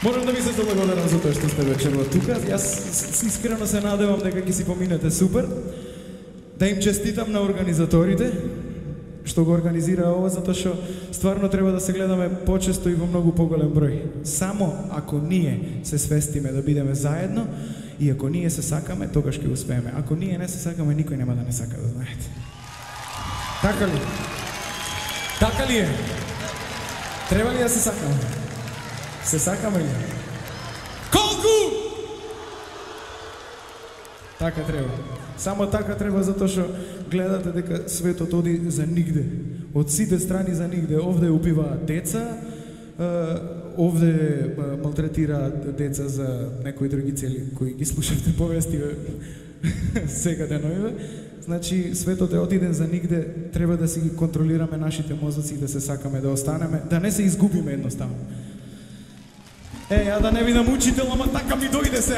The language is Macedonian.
Морам да ви се заблагодарам за тоа што сте вечерва тука. Јас искрено се надевам дека ќе си поминете супер. Да им честитам на организаторите што го организира ова, затоа што стварно треба да се гледаме почесто и во многу поголем број. Само ако ние се свестиме да бидеме заедно и ако ние се сакаме, тогаш ќе успееме. Ако ние не се сакаме, никој нема да не сака, да знаете. Така ли? Така ли е? Треба ли да се сакаме? Се сакаме ли? Колку? Така треба. Само така треба, затоа што гледате дека светот оди за нигде. Од сите страни за нигде. Овде убиваат деца, овде малтретираат деца за некои други цели кои ги слушавте повести сега деновиве. Значи, светот е отиден за нигде, треба да си ги контролираме нашите мозоци и да се сакаме да останеме, да не се изгубиме едноставно. Да не видам учител, ама така ми дојде се.